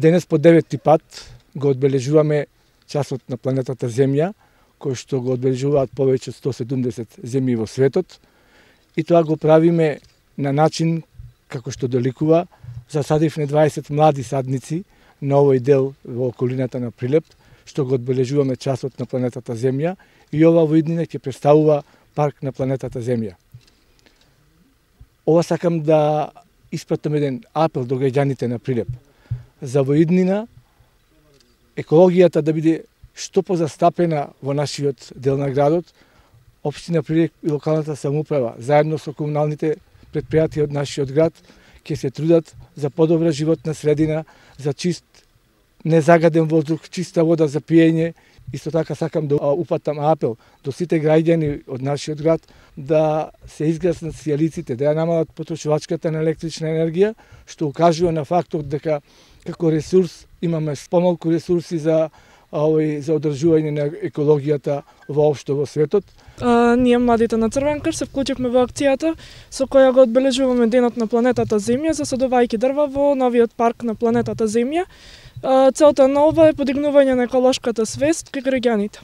Денес по 9-ти пат го одбележуваме часот на планетата Земја, кој што го одбележуваат повеќе од 170 земји во светот. И тоа го правиме на начин како што доликува. Засадивме 20 млади садници на овој дел во околината на Прилеп, што го одбележуваме часот на планетата Земја, и ова во иднина ќе представува парк на планетата Земја. Ова сакам да испратам еден апел до граѓаните на Прилеп. За во иднина екологијата да биде што позастапена во нашиот дел на градот, општина Прилеп и локалната самоуправа, заедно со комуналните предпријатија од нашиот град, ќе се трудат за подобра животна средина, за чист, незагаден воздух, чиста вода за пиење. Исто така сакам да упатам апел до сите граѓани од нашиот град да се изгаснат сијалиците, да ја намалат потрошувачката на електрична енергија, што укажува на фактот дека како ресурс имаме помалку ресурси за одржување на екологијата воопшто во светот. Ние младите на Црвен крст се вклучивме во акцијата со која го одбележуваме денот на планетата Земја, засадувајќи дрва во новиот парк на планетата Земја. Целта на ова е подигнување на еколошката свест кај граѓаните.